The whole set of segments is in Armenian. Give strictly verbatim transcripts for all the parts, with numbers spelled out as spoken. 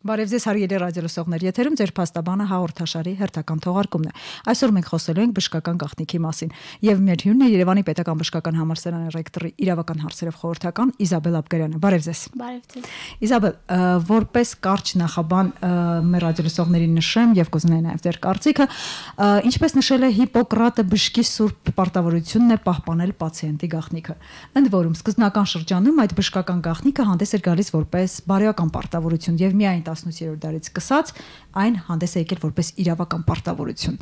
Բարև ձեզ հարգելի ռադիոլսողներ, եթերում ձեր փաստաբանը հաղորդաշարի հերթական թողարկումն է։ Այսօր մենք խոսելու ենք բժշկական գաղտնիքի մասին, եւ մեր հյուրն է Երևանի Պետական բժշկական համալսարանի ռեկտորի իրավական հարցերով խորհրդական Իզաբել Աբգարյանը։ Բարև ձեզ։ Բարև ձեզ։ Իզաբել, որպես կարճ նախաբան մեր ռադիոլսողներին նշեմ եւ կուզենայի նաեւ ձեր կարծիքը, ինչպես նշել է Հիպոկրատը, բժշկի սուրբ պարտավորությունն է պահպանել պացիենտի գաղտնիքը։ Ընդ որում սկզբնական շրջանում այդ բժշկական գաղտնիքը հանդես էր գալիս որպես բարոյական պարտավորություն եւ միայն տասնութերորդ դարից սկսած այն հանդես է եկել որպես իրավական պարտավորություն։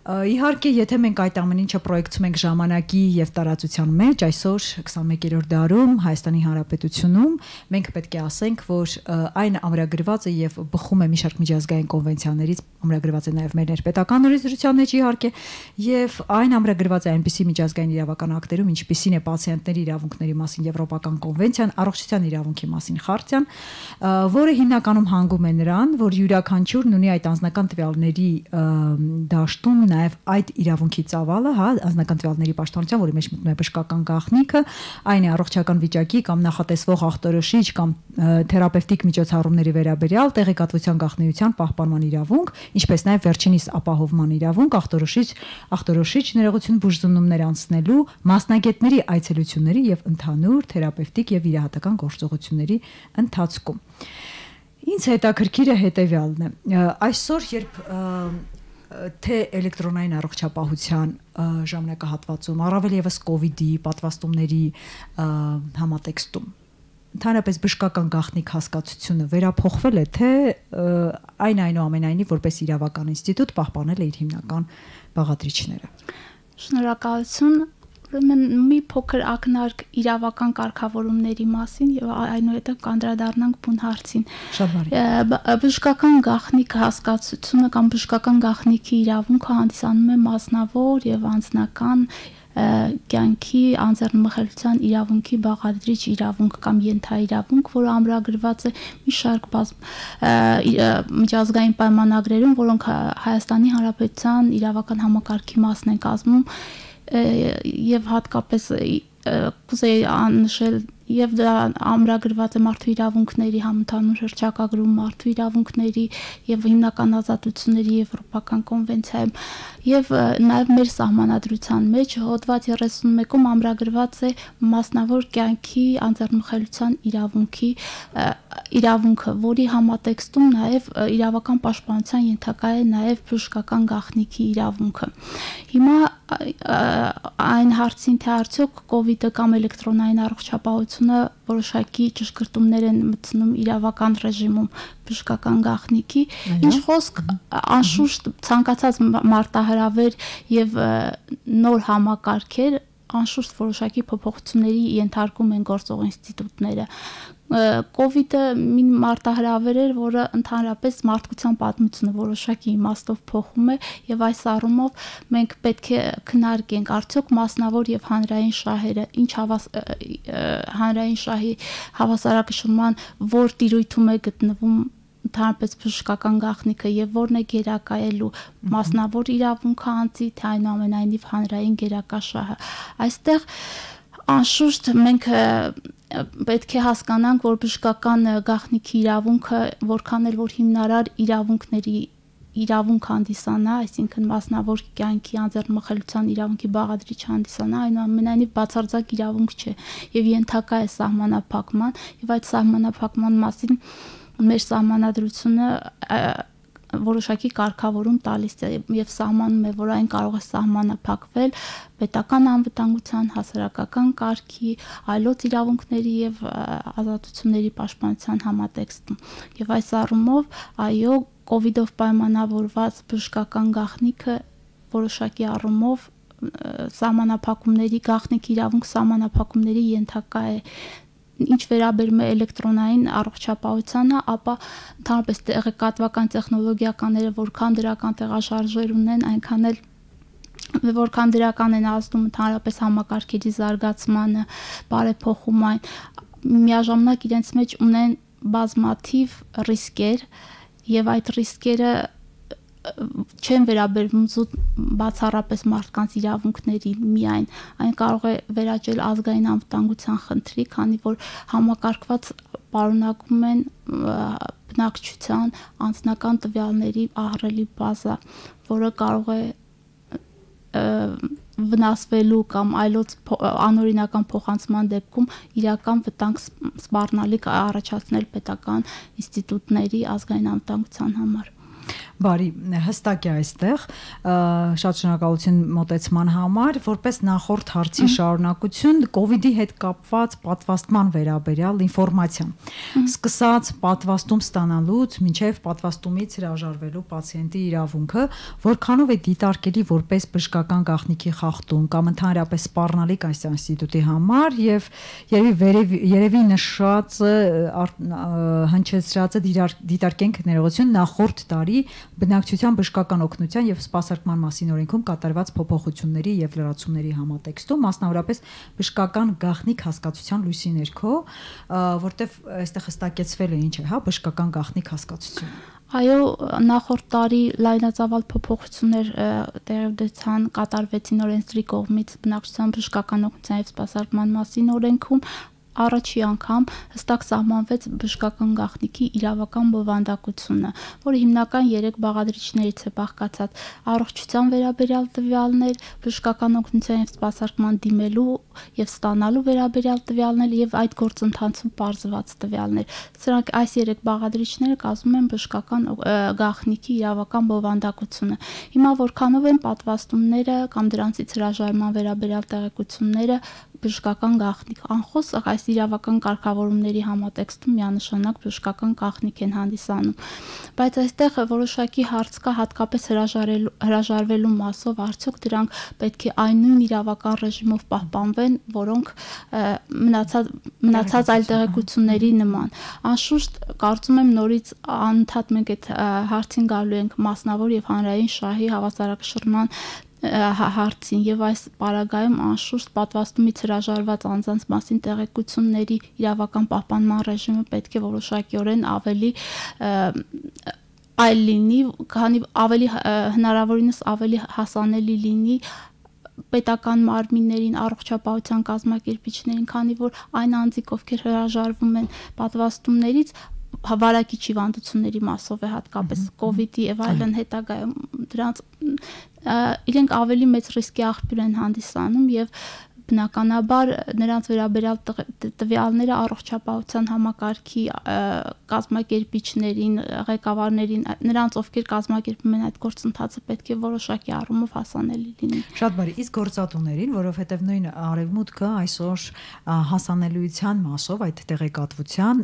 Իհարկե, եթե մենք այդ ամեն ինչը պրոյեկցում ենք ժամանակի եւ տարածության մեջ, այսօր քսաներկերորդ դարում Հայաստանի Հանրապետությունում մենք պետք է ասենք, որ այն ամրագրված է եւ բխում է մի շարք միջազգային կոնվենցիաներից, ամրագրված է նաեւ մեր ներպետական օրենսդրության մեջ իհարկե, եւ այն ամրագրված է այնպիսի միջազգային իրավական ակտերում, ինչպիսին է պացիենտների իրավունքների մասին Եվրոպական կոնվենցիան, առողջության իրավունքի մասին խարտիան, որը հիմնականում հանգում է նրան, որ յուրաքանչյուրն ունի այդ անձնական տվյալների դաշտում նաև այդ իրավունքի ծավալը, հա, անձնական տվյալների պաշտպանության, որի մեջ մտնում է բժշկական գաղտնիքը, այն է առողջական վիճակի կամ նախատեսվող ախտորոշիչ կամ թերապևտիկ միջոցառումների վերաբերյալ տեղեկատվության գաղտնիության պահպանման իրավունք, ինչպես նաև վերջինիս ապահովման իրավունք, ախտորոշիչ, ախտորոշիչ ներողություն բուժզնումներ անցնելու, մասնագետների այցելությունների եւ ընդհանուր թերապևտիկ եւ վիրահատական գործողությունների ընթացքում։ Ինձ հետաքրքիրը հետեւյալն է։ Այսօր երբ թե էլեկտրոնային առողջապահության ժամանակահատվածում, առավել եւս կոവിഡ്ի պատվաստումների համատեքստում, ընդհանրապես բժշկական գաղտնիք հասկացությունը վերափոխվել է, թե այն այնուամենայնիվ որպես իրավական ինստիտուտ պահպանել է իր հիմնական բաղադրիչները։ Շնորհակալություն։ Ուրեմն մի փոքր ակնարկ իրավական կարգավորումների մասին եւ այնուհետեւ կանդրադառնանք բուն հարցին։ Շատ բարի։ Բժշկական գաղտնիք հասկացությունը կամ բժշկական գաղտնիքի իրավունքը հանդիսանում է մասնավոր եւ անձնական կյանքի անձեռնմխելիության իրավունքի բաղադրիչ իրավունք կամ ենթաիրավունք, որը ամրագրված է մի շարք միջազգային պայմանագրերում, որոնք Հայաստանի Հանրապետության իրավական համակարգի մասն են կազմում եւ հատկապես կուզեի անշել եւ դա ամրագրված է մարդու իրավունքների համընդհանուր հռչակագրում, մարդու իրավունքների եւ հիմնական ազատությունների եվրոպական կոնվենցիայում եւ նաեւ մեր սահմանադրության մեջ հոդված երեսունմեկում ամրագրված է մասնավոր կյանքի անձեռնմխելիության իրավունքի իրավունքը, որի համատեքստում նաեւ իրավական պաշտպանության ենթակա է նաեւ բժշկական գաղտնիքի իրավունքը։ Հիմա այն հարցին, թե արդյոք կոവിഡ്ը կամ էլեկտրոնային առողջապահությունը որոշակի ճշգրտումներ են մտցնում իրավական ռեժիմում բժշկական գաղտնիքի, ինչ խոսք անշուշտ ցանկացած մարտահրավեր եւ նոր համակարգեր անշուշտ որոշակի փոփոխությունների ենթարկում են գործող ինստիտուտները։ Կոവിഡ്ը մի մարտահրավեր էր, որը ընդհանրապես մարդկության պատմությունը որոշակի իմաստով փոխում է եւ այս առումով մենք պետք է քննարկենք արդյոք մասնավոր եւ հանրային շահերը ինչ հավաս հանրային շահի հավասարակշռման որ տիրույթում է գտնվում ընդհանրապես բժշկական գաղտնիքը եւ որն է գերակայելու մասնավոր իրավունքը անձի, թե այնուամենայնիվ հանրային գերակա շահը։ Այստեղ անշուշտ մենք պետք է հասկանանք, որ բժշկական գաղտնիքի իրավունքը որքան էլ որ հիմնարար իրավունքների իրավունք հանդիսանա, այսինքն մասնավոր կյանքի անձեռնմխելիության իրավունքի բաղադրիչ հանդիսանա, այնուամենայնիվ բացարձակ իրավունք չէ եւ ենթակա է սահմանափակման եւ այդ սահմանափակման մասին մեր սահմանադրությունը որոշակի կարգավորում տալիս է եւ սահմանում է, որ այն կարող է սահմանափակվել պետական անվտանգության, հասարակական կարգի, այլոց իրավունքների եւ ազատությունների պաշտպանության համատեքստում։ Եվ այս առումով, այո, կոവിഡ്ով պայմանավորված բժշկական գաղտնիքը որոշակի առումով սահմանափակումների գաղտնիքի իրավունք սահմանափակումների ենթակա է։ Ինչ վերաբերում է էլեկտրոնային առողջապահությանը, ապա ընդհանրապես տեղեկատվական տեխնոլոգիաները որքան դրական տեղաշարժեր ունեն, այնքան էլ որքան դրական են ազդում ընդհանրապես համակարգերի զարգացմանը, բարեփոխում այն, միաժամանակ իրենց մեջ ունեն բազմաթիվ ռիսկեր եւ այդ ռիսկերը չեն վերաբերվում զուտ բացառապես մարդկանց իրավունքների միայն, այն կարող է վերաճել ազգային անվտանգության խնդրի, քանի որ համակարգված պարունակում են բնակչության անձնական տվյալների ահռելի բազա, որը կարող է վնասվելու կամ այլոց անօրինական փոխանցման դեպքում իրական վտանգ սպառնալիք առաջացնել պետական ինստիտուտների ազգային անվտանգության համար։ Բարի, հստակ է այստեղ, շատ շնորհակալություն մոտեցման համար, որպես նախորդ հարցի շարունակություն կովիդի հետ կապված պատվաստման վերաբերյալ ինֆորմացիան։ Սկսած պատվաստում ստանալուց մինչև պատվաստումից հրաժարվելու պացիենտի իրավունքը, որքանով է դիտարկելի որպես բժշկական գաղտնիքի խախտում կամ ընդհանրապես սպառնալիք այս ինստիտուտի համար եւ երևի երևի նշածը հնչեցրածը դիտարկենք ներողություն նախորդ տարի բնակչության բժշկական օգնության եւ սպասարկման մասին օրենքում կատարված փոփոխությունների եւ լրացումների համատեքստում, մասնավորապես բժշկական գաղտնիք հասկացության լույսի ներքո, որտեվ այստեղ հստակեցվել է ինչ է, հա, բժշկական գաղտնիք հասկացությունը։ Այո, նախորդ տարի լայնածավալ փոփոխություններ տեղի ունեցան, կատարվեցին օրենսդրի կողմից բնակչության բժշկական օգնության եւ սպասարկման մասին օրենքում առաջի անգամ հստակ սահմանվեց բժշկական գաղտնիքի իրավական բովանդակությունը, որը հիմնական երեք բաղադրիչներից է բաղկացած՝ առողջության վերաբերյալ տվյալներ, բժշկական օգնության եւ սպասարկման դիմելու եւ ստանալու վերաբերյալ տվյալներ եւ այդ գործընթացում պարզված տվյալներ։ Սրանք այս երեք բաղադրիչները կազմում են բժշկական գաղտնիքի իրավական բովանդակությունը։ Հիմա որքանով են պատվաստումները կամ դրանցից հրաժարման վերաբերյալ տեղեկությունները բժշկական գաղտնիք, անխոս այս իրավական կարգավորումների համատեքստում միանշանակ բժշկական գաղտնիք են հանդիսանում, բայց այստեղ որոշակի հարց կա հատկապես հրաժարվելու մասով, արդյոք դրանք պետք է այն նույն իրավական ռեժիմով պահպանվեն, որոնք մնացած մնացած այլ տեղեկությունների նման։ Անշուշտ կարծում եմ նորից անընդհատ մենք այդ հարցին գալու ենք մասնավոր եւ հանրային շահի հավասարակշռման հարցին եւ այս պարագայում անշուշտ պատվաստումից հրաժարված անձանց մասին տեղեկությունների իրավական պահպանման ռեժիմը պետք է որոշակիորեն ավելի այլ լինի, քանի ավելի հնարավորինս ավելի հասանելի լինի պետական մարմիններին, առողջապահության կազմակերպիչներին, քանի որ այն անձիկ, ովքեր հրաժարվում են պատվաստումներից, վարակիչ հիվանդությունների մասով է հատկապես կովիդի եւ այլն հետագայում դրանց իրենք ավելի մեծ ռիսկի աղբյուր են հանդիսանում եւ բնականաբար նրանց վերաբերյալ տվյալները առողջապահության համակարգի կազմակերպիչներին, ղեկավարներին, նրանց ովքեր կազմակերպում են այդ գործընթացը պետք է որոշակի առումով հասանելի լինի։ Շատ բարի, իսկ գործատուներին, որովհետև նույն արևմուտքը այսօր հասանելիության մասով այդ տեղեկատվության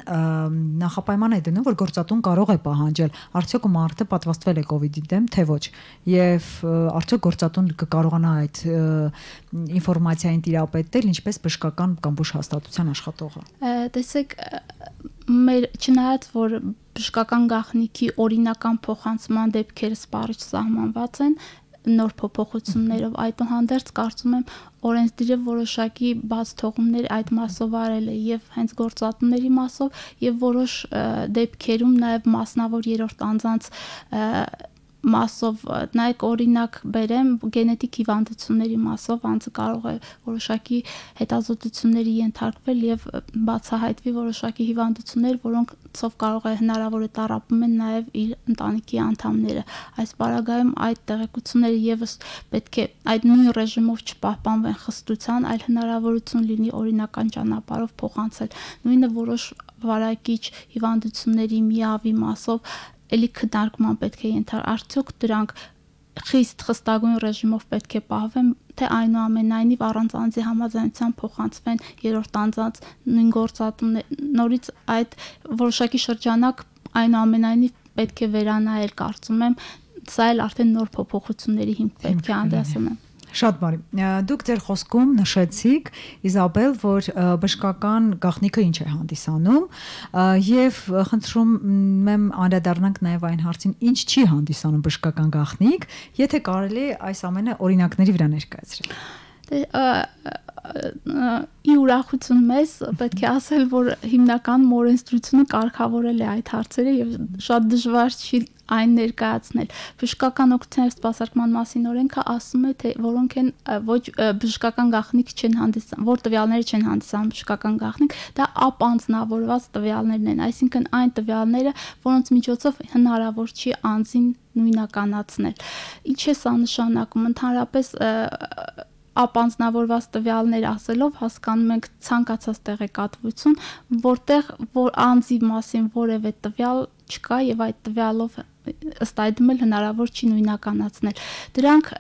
նախապայման է դնում, որ գործատուն կարող է պահանջել, արդյոք մարդը պատվաստվել է կովիդի դեմ, թե ոչ, եւ արդյոք գործատուն կկարողանա այդ ինֆորմացիային տիրապետել, ինչպես բժշկական կամ բուժհաստատության աշխատողը։ Տեսեք, մեր չնայած որ բժշկական գաղտնիքի օրինական փոխանցման դեպքերը սպառիչ սահմանված են նոր փոփոխություններով, այդուհանդերձ կարծում եմ օրենսդիրը որոշակի բաց թողումներ այդ մասով արել է եւ հենց գործատուների մասով եւ որոշ դեպքերում նաեւ մասնավոր երրորդ անձանց մասով, նայեք օրինակ բերեմ գենետիկ հիվանդությունների մասով անձը կարող է որոշակի հետազոտությունների ենթարկվել եւ բացահայտվի որոշակի հիվանդություններ, որոնցով կարող է հնարավոր է տառապում են նաեւ իր ընտանիքի անդամները։ Այս պարագայում այդ տեղեկությունները եւս պետք է այդ նույն ռեժիմով չպահպանվեն խստության, այլ հնարավորություն լինի օրինական ճանապարհով փոխանցել։ Նույնը որոշ վարակիչ հիվանդությունների միավի մասով էլի քննարկման պետք է ենթարկվի, արդյոք դրանք խիստ խստագույն ռեժիմով պետք է պահվեն, թե այնուամենայնիվ առանց անձի համաձայնության փոխանցվեն երրորդ անձանց նույն գործատուն նորից այդ որոշակի շրջանակ այնուամենայնիվ պետք է վերանայել, կարծում եմ, սա էլ արդեն նոր փոփոխությունների հիմք պետք է հանդիսանա։ Շատ բարի։ Դուք ձեր խոսքում նշեցիք, Իզաբել, որ բժշկական գաղտնիքը ինչ է հանդիսանում, եւ խնդրում եմ անդրադառնանք նաեւ այն հարցին, ինչ չի հանդիսանում բժշկական գաղտնիք, եթե կարելի է այս ամենը օրինակների վրա ներկայացնել։ ի ուրախություն մեզ պետք է ասել, որ հիմնականում օրենսդրությունը կարգավորել է այդ հարցերը եւ շատ դժվար չի այն ներկայացնել։ Բժշկական օգնության եւ սպասարկման մասին օրենքը ասում է, թե որոնք են ոչ բժշկական գաղտնիք չեն հանդիսանում, որ տվյալները չեն հանդիսանում բժշկական գաղտնիք, դա ապանձնավորված տվյալներն են, այսինքն այն տվյալները, որոնց միջոցով հնարավոր չի անձին նույնականացնել։ Ինչ է սա նշանակում? Ընդհանրապես ապանձնավորված տվյալներ ասելով հասկանում ենք ցանկացած տեղեկատվություն, որտեղ որ անձի մասին որևէ տվյալ չկա եւ այդ տվյալով ըստ այդմ էլ հնարավոր չի նույնականացնել։ Դրանք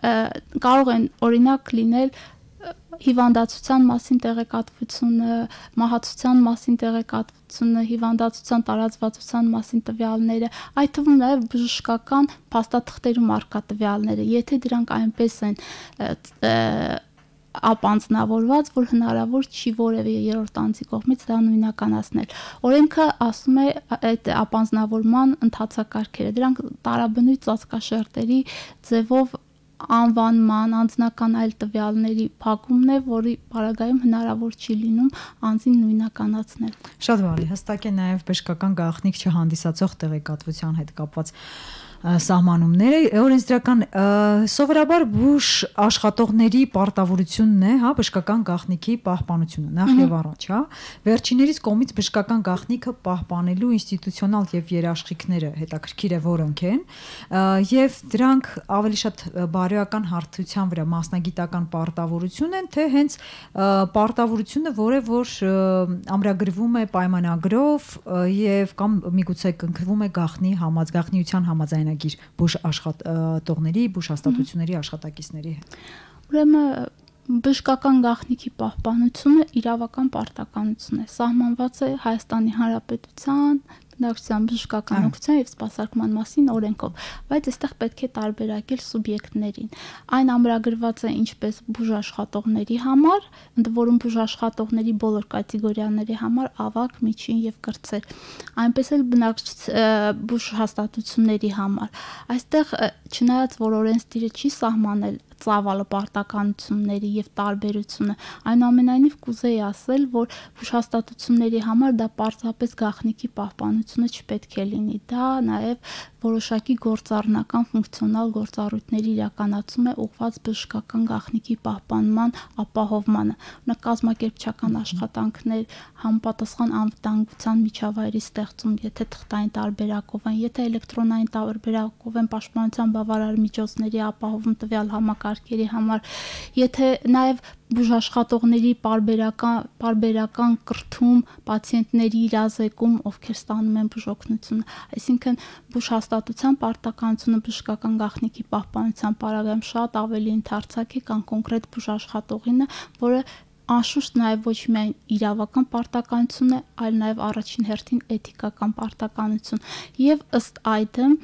կարող են օրինակ լինել հիվանդացության մասին տեղեկատվությունը, մահացության մասին տեղեկատվությունը, հիվանդացության տարածվածության մասին տվյալները, այդ թվում նաև բժշկական փաստաթղթերում առկա տվյալները, եթե դրանք այնպես են ապանձնավորված, որ հնարավոր չի որևէ երրորդ անձի կողմից դա նույնականացնել։ Օրենքը ասում է այդ ապանձնավորման ընթացակարգերը, դրանք տարաբնույթ ծածկաշերտերի ձևով անվանման, անձնական այլ տվյալների փակումն է, որի պարագայում հնարավոր չի լինում անձին նույնականացնել։ Շատ բարի, հստակ է նաև բժշկական գաղտնիք չհանդիսացող տեղեկատվության հետ կապված սահմանումները, օրենսդրական սովորաբար բուժ աշխատողների պարտավորությունն է, հա, բժշկական գաղտնիքի պահպանությունը, նախ եւ առաջ, հա, վերջիններիս կողմից բժշկական գաղտնիքը պահպանելու ինստիտուցիոնալ եւ երաշխիքները հետաքրքիր է որոնք են, եւ դրանք ավելի շատ բարոյական հարթության վրա մասնագիտական պարտավորություն են, թե հենց պարտավորությունը, որը որ ամրագրվում է պայմանագրով եւ կամ միգուցե կնքվում է գաղտնի համաձայնության համաձայն բուժ աշխատողների, բուժ հաստատությունների աշխատակիցների հետ։ Ուրեմն բժշկական գաղտնիքի պահպանությունը իրավական պարտականություն է, սահմանված է Հայաստանի Հանրապետության բնակչության բժշկական օգնության եւ սպասարկման մասին օրենքով, բայց այստեղ պետք է տարբերակել սուբյեկտներին։ Այն ամրագրված է ինչպես բուժաշխատողների համար, ընդ որում բուժաշխատողների բոլոր կատեգորիաների համար ավագ, միջին եւ կրտսեր, այնպես էլ բուժհաստատությունների համար։ Այստեղ չնայած որ օրենսդիրը չի սահմանել ծավալը պարտականությունների եւ տարբերությունը, այնուամենայնիվ կուզեի ասել, որ բուժհաստատությունների համար դա պարզապես գաղտնիքի պահպանությունը չպետք է լինի, դա նաեւ որոշակի գործառնական ֆունկցիոնալ գործառույթների իրականացում է ուղղված բժշկական գաղտնիքի պահպանման ապահովմանը։ Օրինակ կազմակերպչական աշխատանքներ, համապատասխան անվտանգության միջավայրի ստեղծում, եթե թղթային տարբերակով են, եթե էլեկտրոնային տարբերակով են պաշտպանության բավարար միջոցների ապահովում տվյալ համակարգերի համար, եթե նաեւ բուժաշխատողների պարբերական պարբերական կրթում, պացիենտների իրազեկում, ովքեր ստանում են բուժօգնություն, այսինքն բուժհաստատության պարտականությունը բժշկական գաղտնիքի պահպանության պարագայում շատ ավելի ընդարձակ է, քան կոնկրետ բուժաշխատողինը, որը անշուշտ նաև ոչ միայն իրավական պարտականություն է, այլ նաև առաջին հերթին էթիկական պարտականություն, եւ ըստ այդմ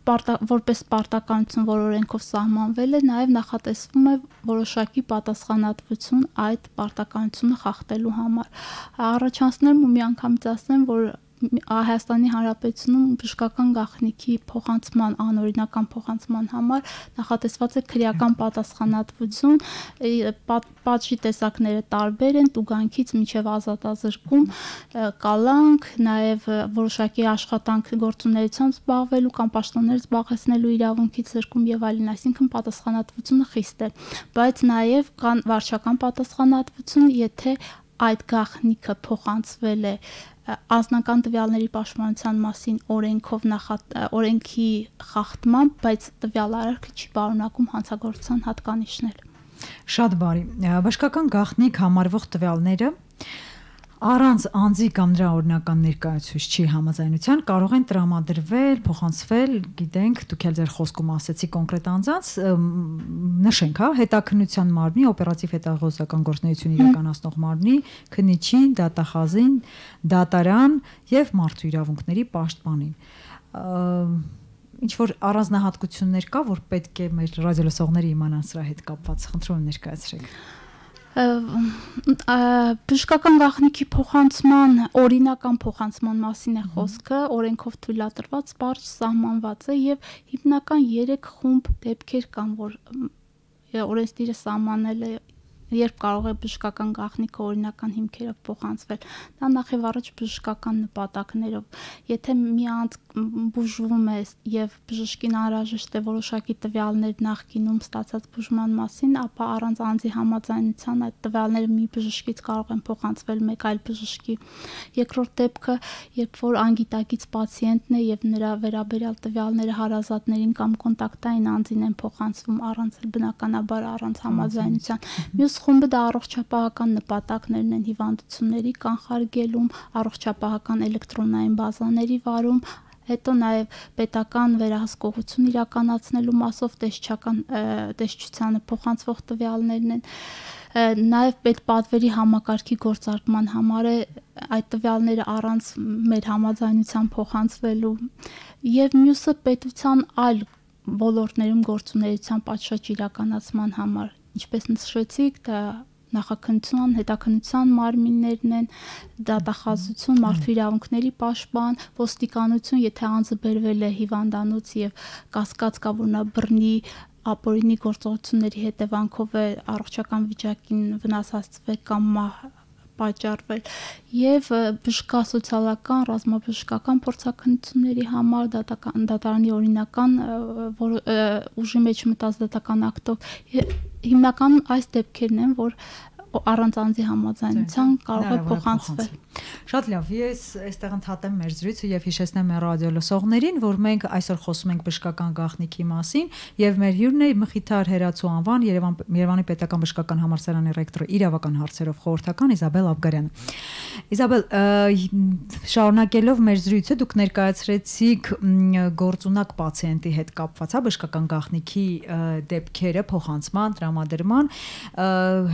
որպես պարտականություն, որ օրենքով սահմանվել է, նաև նախատեսվում է որոշակի պատասխանատվություն այդ պարտականությունը խախտելու համար։ Առաջանցնեմ ու միանգամից ասեմ, որ Հայաստանի Հանրապետությունում բժշկական գաղտնիքի փոխանցման, անօրինական փոխանցման համար նախատեսված է քրեական պատասխանատվություն, պատժի տեսակները տարբեր են, տուգանքից մինչև ազատազրկում, կալանք, նաև որոշակի աշխատանք գործունեությամբ զբաղվելու կամ պաշտոններ զբաղեցնելու իրավունքից զրկում եւ այլն, այսինքն պատասխանատվությունը խիստ է, բայց նաև կան վարչական պատասխանատվություն, եթե այդ գաղտնիքը փոխանցվել է անձնական տվյալների պաշտպանության մասին օրենքով նախատ օրենքի խախտմամբ, բայց տվյալարարքը չի պարունակում հանցագործության հատկանիշներ։ Շատ բարի։ Բժշկական գաղտնիք համարվող տվյալները առանց անձի կամ նրա օրինական ներկայացուցիչի համաձայնության կարող են տրամադրվել, փոխանցվել, գիտենք, դուք էլ ձեր խոսքում ասեցիք կոնկրետ անձանց, նշենք, հա, հետաքննության մարմնի, օպերատիվ հետաղոզական գործունեություն իրականացնող մարմնի, քննիչին, դատախազին, դատարան եւ մարդու իրավունքների պաշտպանին։ Ինչ որ առանձնահատկություններ կա, որ պետք է մեր ռադիոլսողները իմանան սրա հետ կապված, խնդրում եմ ներկայացրեք։ Բժշկական գաղտնիքի փոխանցման օրինական փոխանցման մասին է խոսքը, օրենքով թույլատրված պարզ սահմանված է եւ հիմնական երեք խումբ դեպքեր կան, որ օրենսդիրը սահմանել է երբ կարող է բժշկական գաղտնիքը օրինական հիմքերով փոխանցվել, դա նախ եւ առաջ բժշկական նպատակներով։ Եթե մի անձ բուժվում է եւ բժշկին անհրաժեշտ է որոշակի տվյալներ նախկինում ստացած բուժման մասին, ապա առանց անձի համաձայնության այդ տվյալները մի բժշկից կարող են փոխանցվել մեկ այլ բժշկի։ Երկրորդ դեպքը, երբ որ անգիտակից պացիենտն է եւ նրա վերաբերյալ տվյալները հարազատներին կամ կոնտակտային անձին են փոխանցվում առանց բնականաբար առանց համաձայնության։ Մյուս խումբը դա առողջապահական նպատակներն են հիվանդությունների կանխարգելում, առողջապահական էլեկտրոնային բազաների վարում, հետո նաև պետական վերահսկողություն իրականացնելու մասով տեսչական տեսչությանը փոխանցվող տվյալներն են, նաև պետպատվերի համակարգի գործարկման համար է այդ տվյալները առանց մեր համաձայնության փոխանցվելու, եւ մյուսը պետության այլ ոլորտներում գործունեության պատշաճ իրականացման համար, ինչպես նշեցիք, դա նախաքննության, հետաքննության մարմիններն են, դատախազություն, մարդու իրավունքների պաշտպան, ոստիկանություն, եթե անձը բերվել է հիվանդանոց եւ կասկած կա, որ նա բռնի ապօրինի գործողությունների հետևանքով է առողջական վիճակին վնաս հասցվել կամ մահ պատճառվել, եւ բժշկասոցիալական, ռազմաբժշկական փորձաքննությունների համար դատական դատարանի օրինական ուժի մեջ մտած դատական ակտով հիմնականում այս դեպքերն են, որ առանց անձի համաձայնության կարող է փոխանցվել։ Շատ լավ, ես այստեղ ընդհատեմ մեր զրույցը եւ հիշեցնեմ մեր ռադիոլսողներին, որ մենք այսօր խոսում ենք բժշկական գաղտնիքի մասին եւ մեր հյուրն է Մխիթար Հերացու անվան Երևան Երևանի պետական բժշկական համալսարանի ռեկտոր իրավական հարցերով խորհրդական Իզաբել Աբգարյանը։ Իզաբել, շարունակելով մեր զրույցը, դուք ներկայացրեցիք գործունակ պացիենտի հետ կապված բժշկական գաղտնիքի դեպքերը փոխանցման, տրամադրման,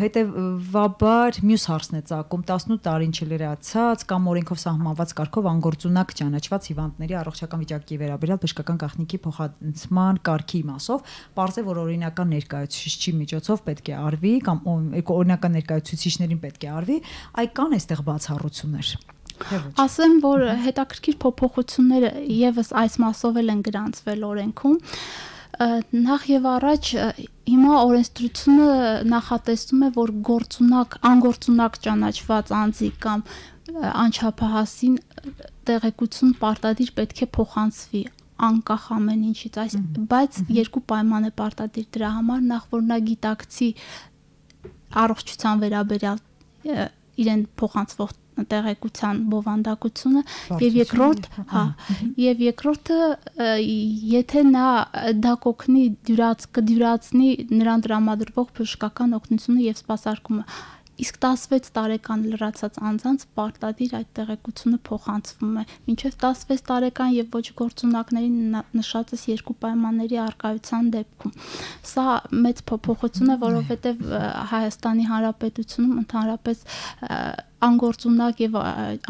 հետեւաբար մյուս հարցն է ծագում տասնութ տարին չլրացած կամ օրենքով սահմանված կարգով անգործունակ ճանաչված հիվանդների առողջական վիճակի վերաբերյալ բժշկական գաղտնիքի փոխանցման կարգի մասով, պարզ է, որ օրինական ներկայացուցիչի միջոցով պետք է արվի կամ օրինական ներկայացուցիչներին պետք է արվի, այ կան այստեղ բացառություններ։ Ասեմ, որ հետաքրքիր փոփոխությունները եւս այս մասով են գրանցվել օրենքում։ Նախ եւ առաջ հիմա օրենսդրությունը նախատեսում է, որ գործունակ, անգործունակ ճանաչված անձի կամ անչափահասին տեղեկություն պարտադիր պետք է փոխանցվի անկախ ամեն ինչից, այս բայց երկու պայման է պարտադիր դրա համար, նախ որ նա գիտակցի առողջության վերաբերյալ իրեն փոխանցվող տեղեկության բովանդակությունը եւ երկրորդ, հա, եւ երկրորդը եթե նա դա կօգնի դյուրաց կդյուրացնի նրան տրամադրվող բժշկական օգնությունը եւ սպասարկումը, իսկ տասնվեց տարեկան լրացած անձանց պարտադիր այդ տեղեկությունը փոխանցվում է, մինչեւ տասնվեց տարեկան եւ ոչ գործունակներին նշածս երկու պայմանների առկայության դեպքում։ Սա մեծ փոփոխություն է, որովհետեւ Հայաստանի Հանրապետությունում ընդհանրապես անգործունակ եւ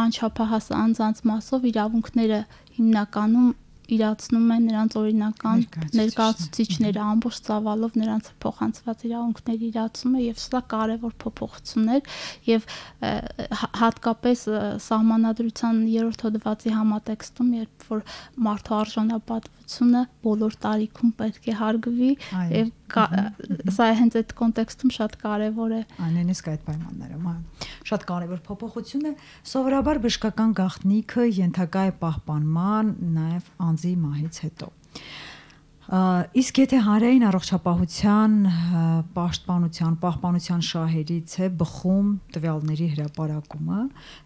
անչափահաս անձանց մասով իրավունքները հիմնականում իրացնում են նրանց օրինական ներկայացուցիչները ամբողջ ծավալով նրանց փոխանցված իրավունքների իրացումը եւ սա կարեւոր փոփոխություն է եւ հատկապես սահմանադրության երրորդ հոդվածի համատեքստում, երբ որ մարդու արժանապատվությունը բոլոր տարիքում պետք է հարգվի եւ սա հենց այդ կոնտեքստում շատ կարեւոր է։ Այնինիսկ այդ պայմաններում, այո, շատ կարեւոր փոփոխություն է։ Սովորաբար բժշկական գաղտնիքը ենթակա է պահպանման նաեւ անձի մահից հետո։ Իսկ եթե հանրային առողջապահության պաշտպանության, պահպանության շահերից է բխում տվյալների հրապարակումը,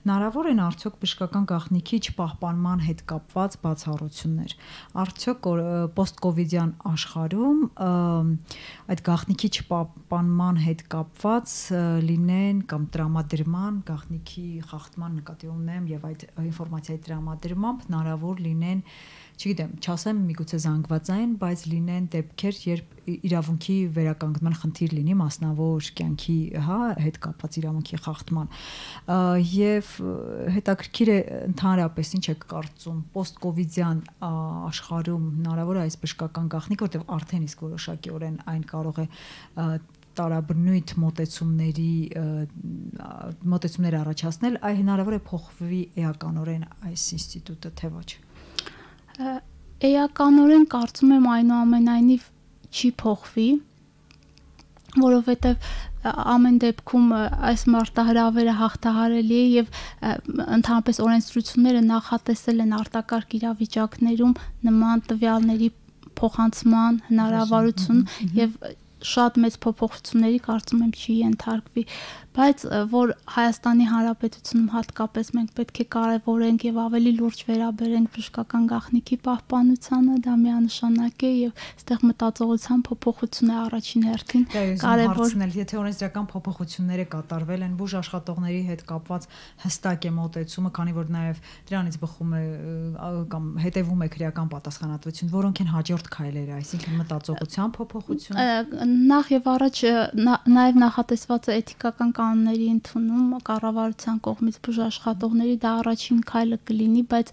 հնարավոր են արդյոք բժշկական գաղտնիքի չպահպանման հետ կապված բացառություններ։ Արդյոք պոստկովիդյան աշխարհում այդ գաղտնիքի չպահպանման հետ կապված լինեն կամ տրամադրման, գաղտնիքի խախտման նկատի ունեմ եւ այդ ինֆորմացիայի տրամադրմամբ հնարավոր լինեն, չգիտեմ, չասեմ միգուցե զանգվածային, բայց լինեն դեպքեր, երբ իրավունքի վերականգնման խնդիր լինի մասնավոր կյանքի, հա, հետ կապված իրավունքի խախտման։ Եվ հետաքրքիր է ընդհանրապես ինչ եք կարծում պոստկովիդյան աշխարհում հնարավոր է այս բժշկական գաղտնիքը, որտեղ արդեն իսկ որոշակիորեն այն կարող է տարաբնույթ մոտեցումների մոտեցումներ առաջացնել, այ հնարավոր է փոխվի էականորեն այս ինստիտուտը, թե ոչ։ Էականորեն կարծում եմ այնուամենայնիվ չի փոխվի, որովհետև ամեն դեպքում այս մարտահրավերը հաղթահարելի է եւ ընդհանրապես օրենսդրությունները նախատեսել են արտակարգ իրավիճակներում նման տվյալների փոխանցման հնարավորություն եւ շատ մեծ փոփոխությունների կարծում եմ չի ենթարկվի, բայց որ Հայաստանի Հանրապետությունում հատկապես մենք պետք է կարևորենք եւ ավելի լուրջ վերաբերենք բժշկական գաղտնիքի պահպանությանը, դա միանշանակ է եւ այստեղ մտածողության փոփոխություն է առաջին հերթին կարևոր։ Եթե օրենսդրական փոփոխությունները կատարվել են բուժ աշխատողների հետ կապված հստակ է մոտեցումը, քանի որ նաեւ դրանից բխում է կամ հետևում է քրեական պատասխանատվություն, որոնք են հաջորդ քայլերը, այսինքն մտածողության փոփոխություն։ Նախ եւ առաջ նաեւ նախատեսված է էթիկական կանոնների ընդունում կառավարության կողմից բուժաշխատողների, դա առաջին քայլը կլինի, բայց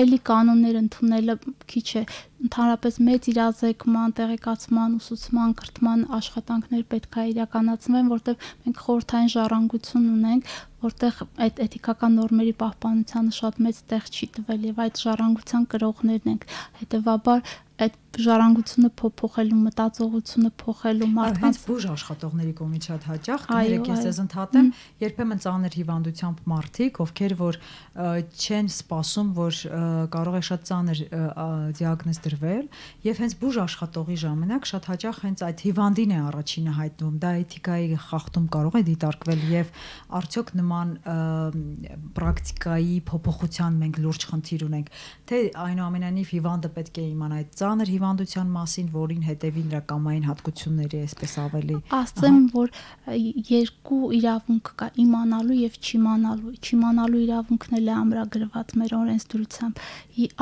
էլի կանոններ ընդունելը քիչ է, ընդհանրապես մեծ իրազեկման, տեղեկացման, ուսուցման, կրթման աշխատանքներ պետք է իրականացվեն, որտեղ մենք խորհրդային ժառանգություն ունենք, որտեղ այդ էթիկական նորմերի պահպանությանը շատ մեծ տեղ չի տվել եւ այդ ժառանգության կրողներն ենք, հետեւաբար այդ ժառանգությունը փոփոխելու, մտածողությունը փոխելու մարդկանց բուժ աշխատողների կողմից շատ հաճախ կներեք ես ես ընդհատեմ, երբեմն ծանր հիվանդությամբ մարդիկ, ովքեր որ չեն սպասում, որ կարող է շատ ծանր դիագնոզ դրվել եւ հենց բուժ աշխատողի ժամանակ շատ հաճախ հենց այդ հիվանդին է առաջինը հայտնվում, դա էթիկայի խախտում կարող է դիտարկվել եւ արդյոք նման պրակտիկայի փոփոխության մենք լուրջ խնդիր ունենք, թե այնուամենայնիվ հիվանդը պետք է իմանա այդ ծանր հիվանդության մասին, որին հետևի նրա կամային հատկությունների այսպես ավելի։ Ասեմ, որ երկու իրավունք կա՝ իմանալու եւ չիմանալու։ Չիմանալու իրավունքն էլ է ամրագրված մեր օրենսդրությամբ։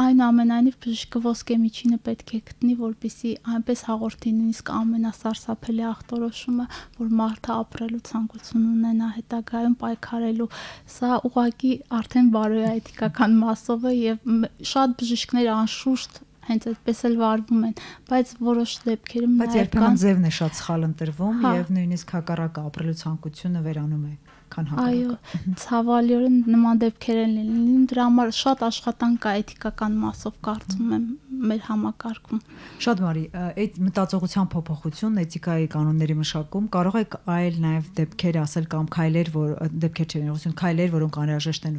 Այնուամենայնիվ բժիշկը ոսկե միջինը պետք է գտնի, որպեսզի այնպես հաղորդի նույնիսկ ամենասարսափելի ախտորոշումը, որ մարդը ապրելու ցանկություն ունենա հետագայում պայքարելու։ Սա ուղղակի արդեն բարոյայթիկական մասով է եւ շատ բժիշկներ անշուշտ հենց այդպես էլ վարվում են, բայց որոշ դեպքերում բայց երբեմն ձևն է շատ սխալ ընտրվում եւ նույնիսկ հակառակը ապրելու ցանկությունը վերանում է, քան հակառակը։ Այո, ցավալիորեն նման դեպքեր են լինում, դրա համար շատ աշխատանք կա էթիկական մասով կարծում եմ մեր համակարգում։ Շատ բարի, այդ մտածողության փոփոխությունն էթիկայի կանոնների մշակում կարող է այլ նաեւ դեպքեր ասել կամ քայլեր, որ դեպքեր չեն եղություն, քայլեր, որոնք անհրաժեշտ են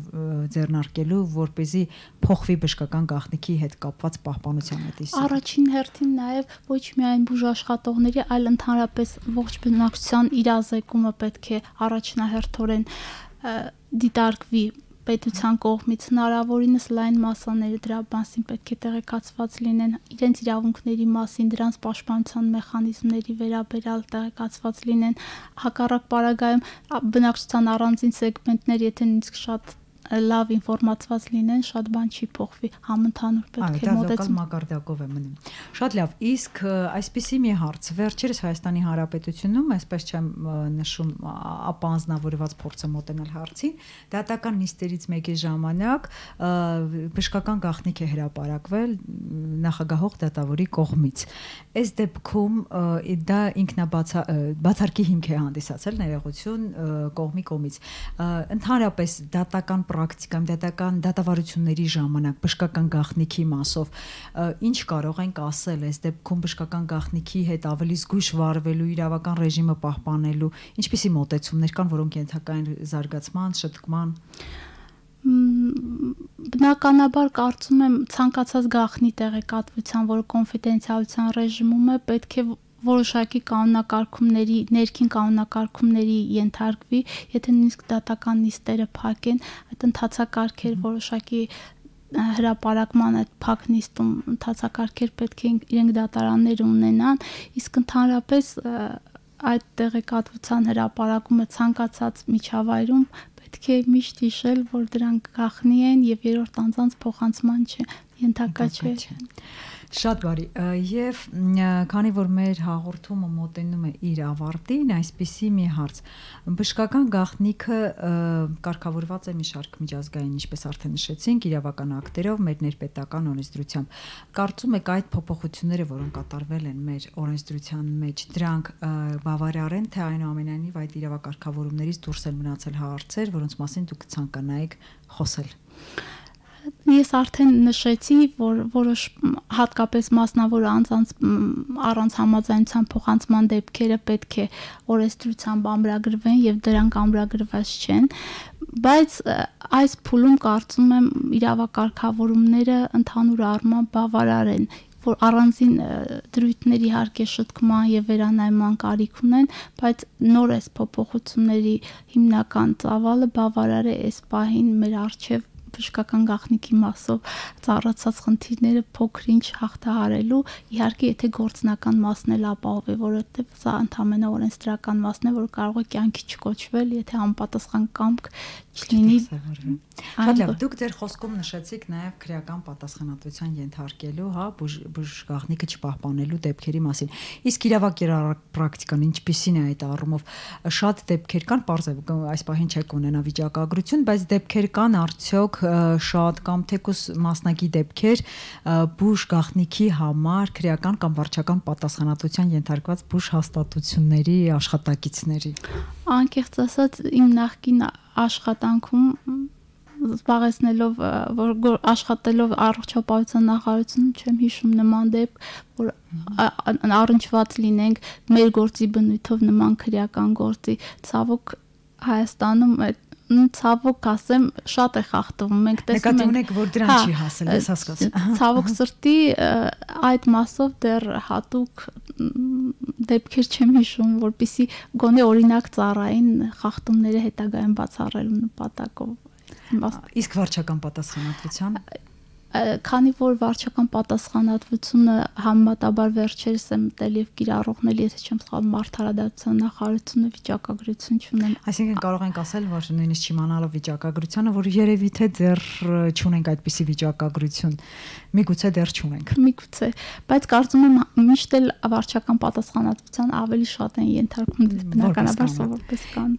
ձեռնարկելու, որպեսզի փոխվի բժշկական գաղտնիքի հետ կապված պահպանության մտիսը։ Առաջին հերթին նաեւ ոչ միայն բուժաշխատողների, այլ ընդհանրապես ողջ բնակչության իրազեկումը պետք է առաջնահերթորեն դիտարկվի պետության կողմից, հնարավորինս լայն մասաները դրա մասին պետք է տեղեկացված լինեն, իրենց իրավունքների մասին, դրանց պաշտպանության մեխանիզմների վերաբերյալ տեղեկացված լինեն, հակառակ պարագայում բնակչության առանձին սեգմենտներ, եթե նույնիսկ շատ լավ ինֆորմացված լինեն, շատ բան չի փոխվի, համընդհանուր պետք է մոտեցում մակարդակով է մնում։ Շատ լավ, իսկ այսպիսի մի հարց, վերջերս Հայաստանի Հանրապետությունում, այսպես չեմ նշում, ապանձնավորված փորձը մոտենալ հարցին, դատական նիստերից մեկի ժամանակ բժշկական գաղտնիք է հրապարակվել նախագահող դատավորի կողմից։ Այս դեպքում դա ինքնաբացարկի հիմք է հանդիսացել ներողություն կողմի կողմից։ Ընդհանրապես դատական պրակտիկայում դատական դատավարությունների ժամանակ բժշկական գաղտնիքի մասով ինչ կարող ենք ասել այս դեպքում բժշկական գաղտնիքի հետ ավելի զգույշ վարվելու, իրավական ռեժիմը պահպանելու, ինչպիսի մոտեցումներ կան, որոնք ենթակա են զարգացման, շտկման։ Բնականաբար կարծում եմ ցանկացած գաղտնի տեղեկատվության, որը կոնֆիդենցիալության ռեժիմում է, պետք է որոշակի կանոնակարգումների, ներքին կանոնակարգումների ենթարկվի, եթե նույնիսկ դատական նիստերը փակ են, այդ ընթացակարգեր որոշակի հրապարակման այդ փակ նիստում ընթացակարգեր պետք է իրենք դատարանները ունենան, իսկ ընդհանրապես այդ տեղեկատվության հրապարակումը ցանկացած միջավայրում պետք է միշտ հիշել, որ դրանք գաղտնի են եւ երրորդ անձանց փոխանցման չէ, ենթակա չէ։ Շատ բարի, եւ քանի որ մեր հաղորդումը մոտենում է իր ավարտին, այսպիսի մի հարց, բժշկական գաղտնիքը կարգավորված է մի շարք միջազգային, ինչպես արդեն նշեցինք, իրավական ակտերով, մեր ներպետական օրենսդրությամբ։ Կարծում եք այդ փոփոխությունները, որոնք կատարվել են մեր օրենսդրության մեջ, դրանք բավարար են, թե այնուամենայնիվ այդ իրավակարգավորումներից դուրս են մնացել հարցեր, որոնց մասին դուք ցանկանայիք խոսել։ Ես արդեն նշեցի, որ որոշ հատկապես մասնավոր անձանց առանց համաձայնության փոխանցման դեպքերը պետք է օրենսդրությամբ ամրագրվեն եւ դրանք ամրագրված չեն, բայց այս փուլում կարծում եմ իրավակարգավորումները ընդհանուր առմամբ բավարար են, որ առանձին դրույթների իհարկե շտկման եւ վերանայման կարիք ունեն, բայց նոր այս փոփոխությունների հիմնական ծավալը բավարար է այս պահին մեր առջև բժշկական գաղտնիքի մասով ծառացած խնդիրները փոքր-ինչ հաղթահարելու, իհարկե եթե գործնական մասն էլ ապահովի, որովհետեւ սա ընդհանրապես օրենսդրական մասն է, որ կարող է կյանքի չկոչվել, եթե անպատասխան կամք չլինի։ Շատ լավ, դուք ձեր խոսքում նշեցիք նաև քրեական պատասխանատվության ենթարկելու, հա, բուժգաղտնիքը չպահպանելու դեպքերի մասին։ Իսկ իրավակերպ պրակտիկան ինչպիսին է այդ առումով։ Շատ դեպքեր կան, պարզ է, այս պահին չեք ունենա վիճակագրություն, բայց դեպքեր կան արդյոք շատ կամ թեկուզ մասնակի դեպքեր բուժգաղտնիքի համար քրեական կամ վարչական պատասխանատվության ենթարկված բուժհաստատությունների աշխատակիցների։ Անկեղծ ասած, իմ նախկին աշխատանքում զբաղեցնելով, որ աշխատելով առողջապահության նախարարությունում չեմ հիշում նման դեպք, որ առնչված լինենք մեր գործի բնույթով նման քրեական գործի, ցավոք Հայաստանում ցավոք ասեմ շատ է խախտվում, մենք տեսնում ենք, նկատի ունեք, որ դրան չի հասել, ես հասկացա։ Ցավոք սրտի այդ մասով դեռ հատուկ դեպքեր չեմ հիշում, որպեսզի գոնե օրինակ ծառային խախտումները հետագայում բացառելու նպատակով։ Իսկ վարչական պատասխանատվության քանի որ վարչական պատասխանատվությունը համեմատաբար վերջերս է մտել եւ կիրառողնել, եթե չեմ սխալվում, արդարադատության նախարարությունը վիճակագրություն չունեն։ Այսինքն կարող ենք ասել, որ նույնիսկ չիմանալով վիճակագրությանը, որ երևի թե դեռ չունենք այդպիսի վիճակագրություն, միգուցե դեռ չունենք։ Միգուցե, բայց կարծում եմ միշտ էլ վարչական պատասխանատվության ավելի շատ են ենթարկվում, բնականաբար սովորպես կան։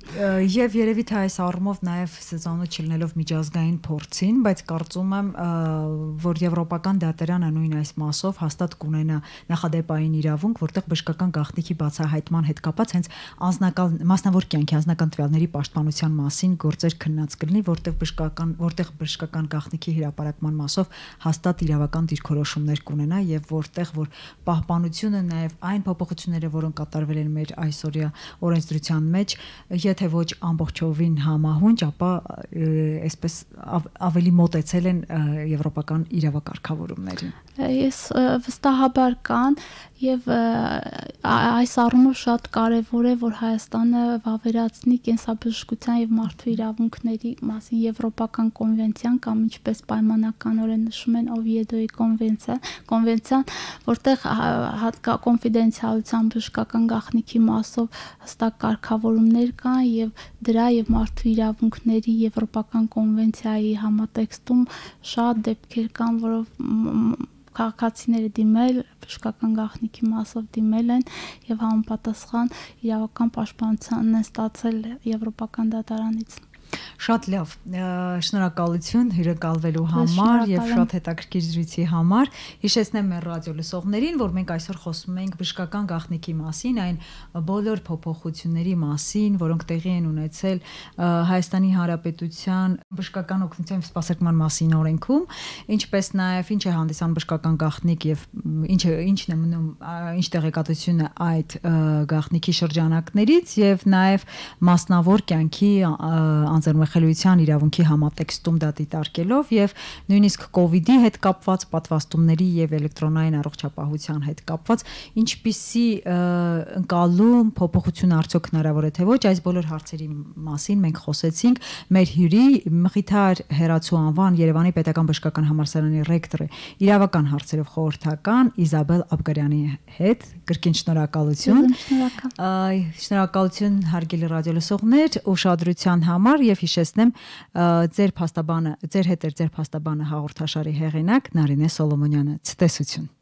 Եվ երևի թե այս առումով նաեւ սեզոնը չլինելով միջազգային փորձին, բայց կարծում եմ որ եվրոպական դատարանը նույն այս մասով հաստատ կունենա նախադեպային իրավունք, որտեղ բժշկական գաղտնիքի բացահայտման հետ կապված հենց անձնական մասնավոր կյանքի անձնական տվյալների պաշտպանության մասին գործեր քննած կլինի, որտեղ բժշկական որտեղ բժշկական գաղտնիքի հրապարակման մասով հաստատ իրավական դիրքորոշումներ կունենա եւ որտեղ որ պահպանությունը նաեւ այն փոփոխությունները, որոնք կատարվել են մեր այսօրյա օրենսդրության մեջ, եթե ոչ ամբողջովին համահունչ, ապա այսպես ավելի մոտեցել են եվրոպական իրավակարգավորումներին։ Ես վստահաբար կան եւ այս առումով շատ կարեւոր է, որ Հայաստանը վավերացնի կենսաբժշկության եւ մարդու իրավունքների մասին եվրոպական կոնվենցիան կամ ինչպես պայմանականորեն նշում են Օվիեդոյի կոնվենցիա, կոնվենցիան, որտեղ հատկա կոնֆիդենցիալության բժշկական գաղտնիքի մասով հստակ կարգավորումներ կան եւ դրա եւ մարդու իրավունքների եվրոպական կոնվենցիայի համատեքստում շատ դեպքեր կան, որով քաղաքացիները դիմել, բժշկական գաղտնիքի մասով դիմել են եւ համապատասխան իրավական պաշտպանության են ստացել եվրոպական դատարանից։ Շատ լավ, շնորհակալություն հյուրընկալվելու համար եւ շատ հետաքրքիր զրույցի համար։ Հիշեցնեմ մեր ռադիոլսողներին, որ մենք այսօր խոսում ենք բժշկական գաղտնիքի մասին, այն բոլոր փոփոխությունների մասին, որոնք տեղի են ունեցել Հայաստանի Հանրապետության բժշկական օգնության եւ սպասարկման մասին օրենքում, ինչպես նաեւ ինչ է հանդիսանում բժշկական գաղտնիք եւ ինչը ինչն է մնում, ինչ տեղեկատվություն է այդ գաղտնիքի շրջանակներից եւ նաեւ մասնավոր կյանքի անձեռնմխելիության իրավունքի համատեքստում դա դիտարկելով եւ նույնիսկ կոവിഡ്ի հետ կապված պատվաստումների եւ էլեկտրոնային առողջապահության հետ կապված ինչպիսի ընկալում փոփոխություն արդյոք հնարավոր է թե ոչ, այս բոլոր հարցերի մասին մենք խոսեցինք մեր հյուրի Մխիթար Հերացու անվան Երևանի Պետական բժշկական համալսարանի ռեկտորի իրավական հարցերով խորհրդական Իզաբել Աբգարյանի հետ։ Կրկին շնորհակալություն։ Շնորհակալություն հարգելի ռադիոլսողներ ուշադրության համար եւ հիշեցնեմ ձեր փաստաբանը, ձեր հետ էր ձեր փաստաբանը հաղորդաշարի հեղինակ Նարինե Սոլոմոնյանը։ Ցտեսություն։